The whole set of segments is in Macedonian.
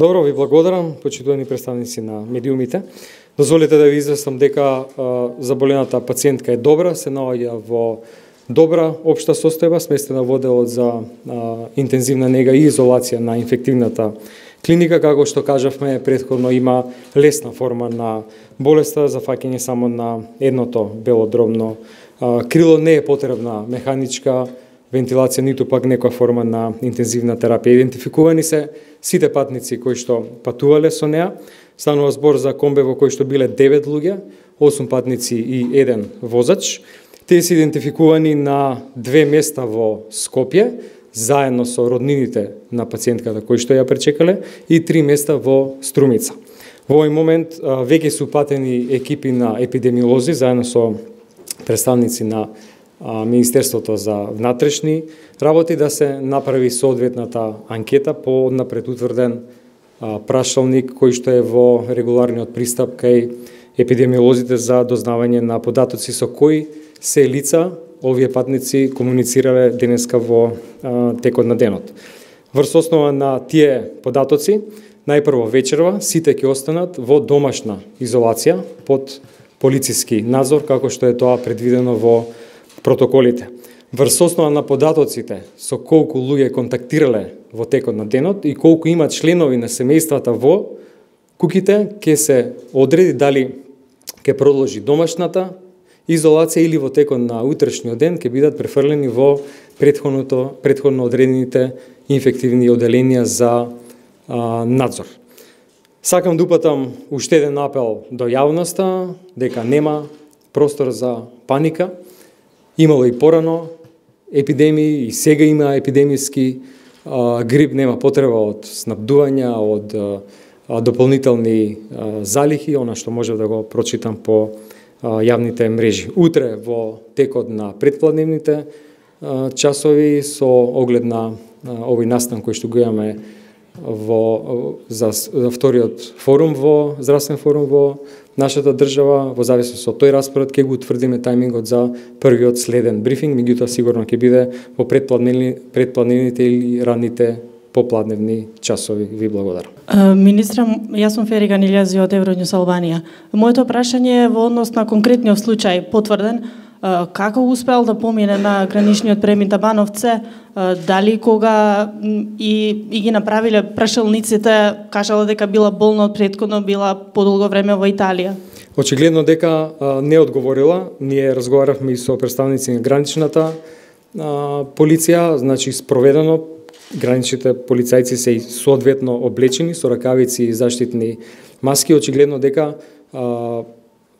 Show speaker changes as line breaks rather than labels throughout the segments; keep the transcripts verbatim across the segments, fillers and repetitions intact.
Добро, ви благодарам, почитувани представници на медиумите. Дозволете да ви известам дека а, заболената пациентка е добра, се наоѓа во добра општа состојба, сместена во делот за а, интензивна нега и изолација на инфективната клиника, како што кажавме претходно, има лесна форма на болеста, зафаќање само на едното белодробно а, крило, не е потребна механичка вентилација, ниту пак некоја форма на интензивна терапија. Идентификувани се сите патници кои што патувале со неа. Станува збор за комбе во кој што биле девет луѓе, осум патници и еден возач. Тие се идентификувани на две места во Скопје, заедно со роднините на пациентката кои што ја пречекале, и три места во Струмица. Во овој момент веќе се упатени екипи на епидемиолози, заедно со представници на Министерството за внатрешни работи, да се направи соодветната анкета по напред утврден прашалник кој што е во регуларниот пристап кај епидемиолозите за дознавање на податоци со кои се лица овие патници комуницирале денеска во а, текот на денот. Врз основа на тие податоци, најпрво вечерва сите ќе останат во домашна изолација под полициски надзор, како што е тоа предвидено во протоколите. Врз основа на податоците со колку луѓе контактирале во текот на денот и колку имат членови на семејствата во куќите, ќе се одреди дали ќе продолжи домашната изолација или во текот на утрешниот ден ќе бидат префрлени во претходното претходно одредените инфективни оделенија за а, надзор. Сакам да упатам уште еден апел до јавноста дека нема простор за паника. Имало и порано епидемии, и сега има епидемиски а, грип, нема потреба од снабдувања, од а, дополнителни а, залихи, она што може да го прочитам по а, јавните мрежи. Утре во текот на предпладневните а, часови со оглед на а, овој настан кој што го имаме во за, за вториот форум во здравствен форум во нашата држава, во зависност од тој распоред ќе го утврдиме тајмингот за првиот следен брифинг, меѓутоа сигурно ќе биде во предпладневни, предпладневните или ранните попладневни часови. Ви благодарам.
Министра, јас сум Фери Ганилјази од Евроньюс Албанија. Моето прашање е во однос на конкретниот случај потврден. Како успел да помине на граничниот премин Табановце, дали кога и, и ги направиле прашалниците, кажала дека била болна од претходно, била подолго време во Италија?
Очигледно дека а, не одговорила. Ние разговаравме и со представници на граничната а, полиција, значи спроведено, граничните полицајци се и соодветно облечени со ракавици и заштитни маски. Очигледно дека а,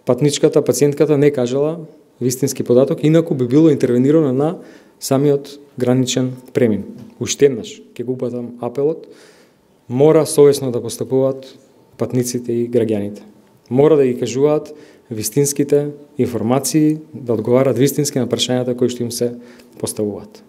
патничката, пациентката не кажала вистински податок, инаку би било интервенирано на самиот граничен премин. Уште еднаш ќе го упатам апелот, мора совесно да постапуваат патниците и граѓаните. Мора да ги кажуваат вистинските информации, да одговарат вистински на прашањата кои што им се поставуваат.